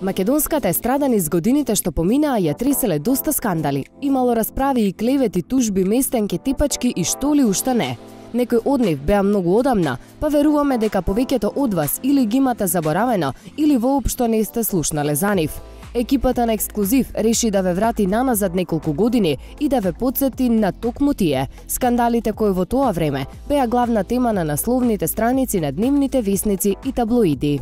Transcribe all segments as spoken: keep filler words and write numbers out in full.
Македонската естрада низ годините што поминаа ја треселе доста скандали. Имало расправи и клевети, тужби, местенки, типачки и што ли уште не. Некои од нив беа многу одамна, па веруваме дека повеќето од вас или ги имате заборавено, или воопшто не сте слушнале за нив. Екипата на Ексклузив реши да ве врати наназад неколку години и да ве потсети на токму тие скандалите кои во тоа време беа главна тема на насловните страници на дневните весници и таблоиди.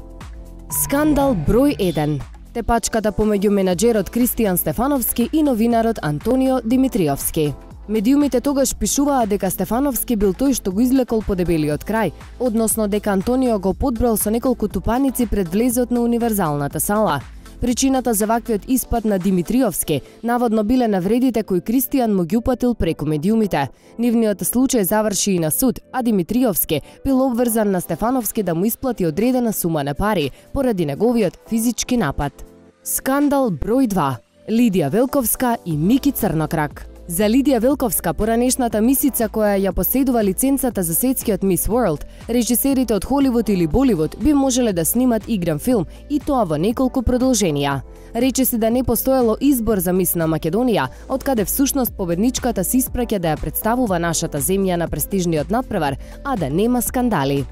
Скандал број еден. Тепачката помеѓу менаџерот Кристијан Стефановски и новинарот Антонио Димитриовски. Медиумите тогаш пишуваа дека Стефановски бил тој што го излекол по дебелиот крај, односно дека Антонио го подбрал со неколку тупаници пред влезот на универзалната сала. Причината за ваквиот испад на Димитриовски наводно биле навредите кои Кристијан му ги упатил преку медиумите. Нивниот случај заврши и на суд, а Димитриовски бил обврзан на Стефановски да му исплати одредена сума на пари поради неговиот физички напад. Скандал број два. Лидија Велковска и Мики Црнокрак. За Лидија Велковска, поранешната мисица која ја поседува лиценцата за светскиот Мис Ворлд, режисерите од Холивуд или Боливуд би можеле да снимат игран филм и тоа во неколку продолженија. Рече се да не постоело избор за Мис на Македонија, откаде всушност победничката се испраќа да ја представува нашата земја на престижниот натпревар, а да нема скандали.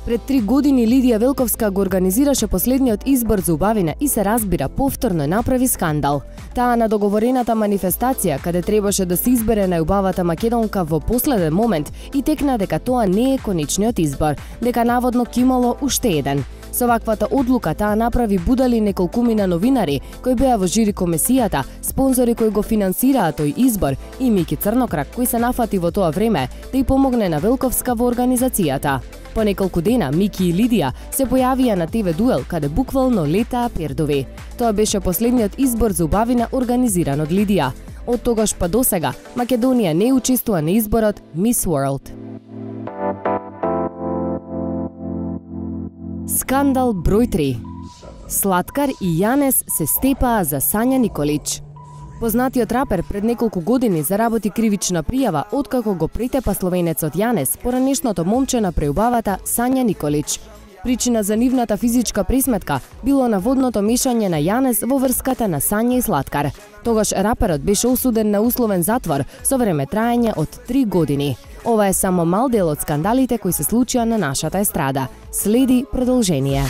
Пред три години Лидија Велковска го организираше последниот избор за убавина и се разбира повторно направи скандал. Таа на договорената манифестација, каде требаше да се избере најубавата македонка во последен момент и текна дека тоа не е конечниот избор, дека наводно кимало уште еден. Со ваквата одлука таа направи будали неколкумина новинари кои беа во жири комисијата, спонзори кои го финансираа тој избор и Мики Црнокрак кој се нафати во тоа време да ја помогне на Велковска во организацијата. По неколку дена Мики и Лидија се појавија на Те Ве дуел каде буквално летаа пердови. Тоа беше последниот избор за убавина организиран од Лидија. Од тогаш па досега Македонија не учествува на изборот Мис Ворлд. Скандал број три. Слаткар и Јанес се степаа за Сања Николич. Познатиот рапер пред неколку години заработи кривична пријава откако го претепа словенецот Јанес, поранешното момче на преубавата Сања Николич. Причина за нивната физичка пресметка било наводното мешање на Јанес во врската на Сања и Слаткар. Тогаш раперот беше осуден на условен затвор со време траење од три години. Ова е само мал дел од скандалите кои се случија на нашата естрада. Следи продолжение.